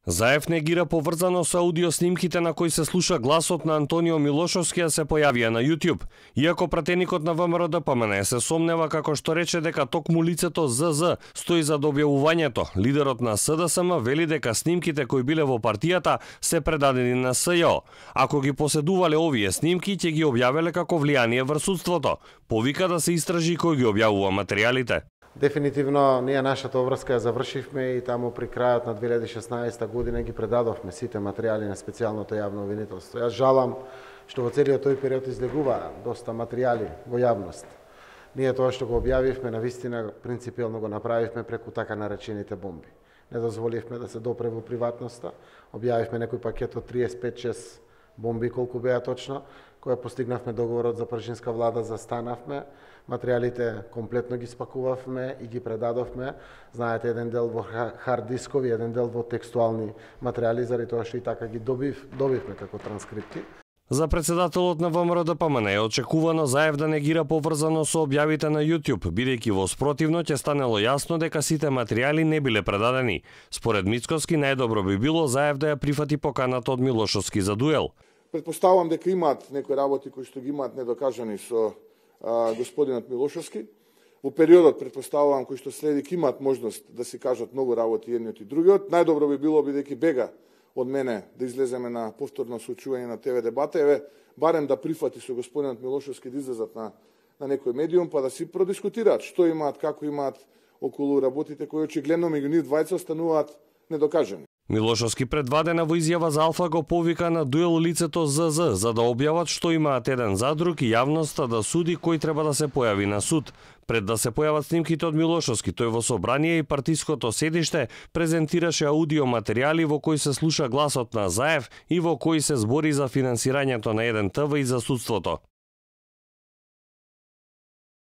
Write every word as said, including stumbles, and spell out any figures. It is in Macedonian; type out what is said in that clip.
Заев негира поврзано со аудио снимките на кои се слуша гласот на Антонио Милошовски, а се појавија на YouTube. Иако пратеникот на ВМРО-ДПМН се сомнева како што рече дека токму лицето ЗЗ стои за објавувањето, лидерот на СДСМ вели дека снимките кои биле во партијата се предадени на СЈО. Ако ги поседувале овие снимки, ќе ги објавеле како влијание врз судството. Повика да се истражи кој ги објавува материјалите. Дефинитивно, ние нашата обврска ја завршивме и таму при крајот на две илјади и шеснаесета година ги предадовме сите материјали на специјалното јавно обвинителство. Јас жалам што во целиот тој период излегува доста материјали во јавност. Ние тоа што го објавивме, навистина принципиелно го направивме преку така наречените бомби. Не дозволивме да се допре во приватноста, објавивме некој пакет од триесет и пет шест бомби, колку беа точно, која постигнавме договорот за пржинска влада, застанавме, материјалите комплетно ги спакувавме и ги предадовме. Знаете, еден дел во хард дискови, еден дел во текстуални материјали, заради тоа што и така ги добив, добивме како транскрипти. За председателот на ВМРО-ДПМН е очекувано Заев да негира поврзано со објавите на YouTube, бидејќи во спротивно ќе станело јасно дека сите материјали не биле предадени. Според Мицкоски, најдобро би било Заев да ја прифати поканата од Милошовски за дуел. Предпоставувам дека имаат некои работи кои што ги имаат недокажани со а, господинот Милошовски. Во периодот, предпоставувам, кои што следи, имаат можност да си кажат многу работи едниот и другиот. Најдобро би било, бидејќи бега од мене да излеземе на повторно соочување на ТВ дебата, еве, барем да прифати со господинот Милошовски да излезат на, на некој медиум, па да си продискутираат што имаат, како имаат околу работите кои очигледно меѓу нив двајца остануваат недокажани. Милошовски предвадена во изјава за Алфа го повика на дуел лицето ЗЗ за да објават што имаат еден за друг и јавноста да суди кој треба да се појави на суд. Пред да се појават снимките од Милошовски, тој во собрание и партиското седиште презентираше аудио материјали во кои се слуша гласот на Заев и во кои се збори за финансирањето на еден ТВ и за судството.